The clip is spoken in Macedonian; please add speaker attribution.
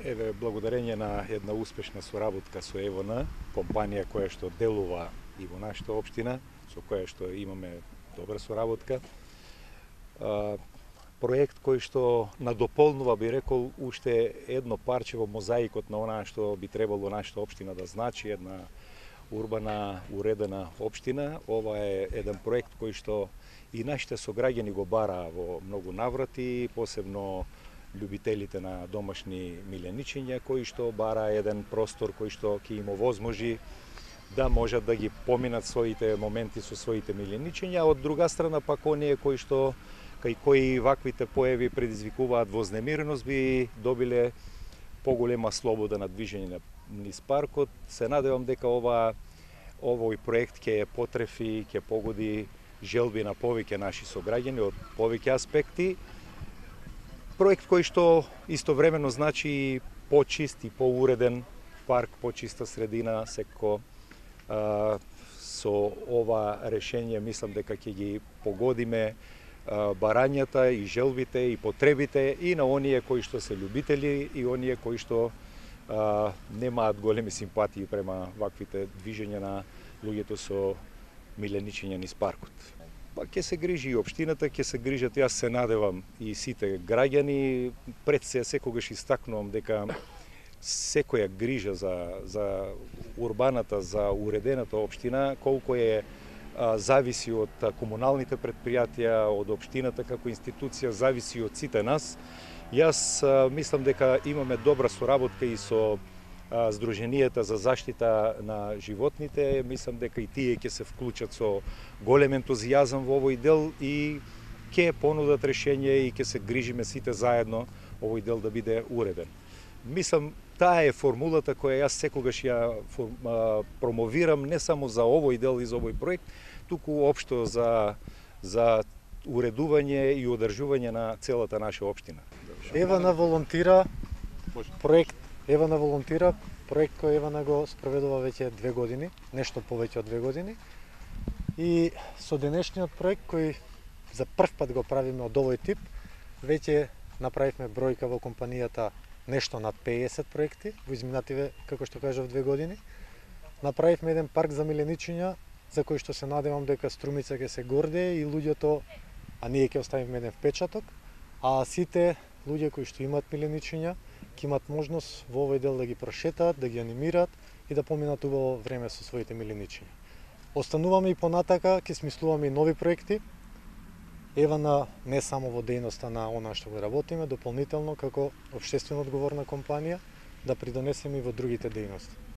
Speaker 1: Еве, благодарење на една успешна соработка со ЕВН, компанија која што делува и во нашата општина, со која што имаме добра соработка. Проект кој што надополнува, би рекол, уште едно парче во мозаикот на онаа што би требало нашата општина да значи, една урбана, уредена општина. Ова е еден проект кој што и нашите сограѓани го бараа во многу наврати, посебно љубителите на домашни миленичиња, кои што бара еден простор кој што ќе им овозможи да можат да ги поминат своите моменти со своите миленичиња, од друга страна пак оние кои што кај кои ваквите појави предизвикуваат вознемиреност би добиле поголема слобода на движење низ паркот. Се надевам дека овој проект ќе потрефи, ќе погоди желби на повеќе наши сограѓани од повеќе аспекти. Проект кој што истовремено значи и почист и поуреден парк, почиста средина, секако со ова решение мислам дека ќе ги погодиме барањата и желбите и потребите и на оние кои што се љубители и оние кои што немаат големи симпатии према ваквите движења на луѓето со миленичиња низ паркот. Па ќе се грижи и општината, ќе се грижат, јас се надевам и сите граѓани. Пред се секогаш истакнувам дека секоја грижа за урбаната, за уредената општина, колку зависи од комуналните претпријатија, од општината како институција, зависи од сите нас. Јас мислам дека имаме добра соработка и со Сдруженијата за заштита на животните. Мислам дека и тие ќе се вклучат со голем ентузијазам во овој дел и ќе понудат решение и ќе се грижиме сите заедно овој дел да биде уреден. Мислам, таа е формулата која јас секогаш ја промовирам не само за овој дел и за овој проект, туку општо за уредување и одржување на целата наша општина.
Speaker 2: ЕВН волонтира проект проект кој ЕВН го спроведува веќе 2 години, нешто повеќе од 2 години. И со денешниот проект кој за прв пат го правиме од овој тип, веќе направивме бројка во компанијата нешто над 50 проекти во изминативе, како што кажав, 2 години. Направивме еден парк за миленичиња за кој што се надевам дека Струмица ќе се гордее и луѓето, а ние ќе оставиме еден впечаток, а сите луѓе кои што имаат миленичиња ќе имат можност во овој дел да ги прошетаат, да ги анимираат и да поминат убаво време со своите миленичиња. Остануваме и понатака, ќе смислуваме и нови проекти. ЕВН не само во дејноста на она што го работиме, дополнително како општествено одговорна компанија да придонесеме и во другите дејности.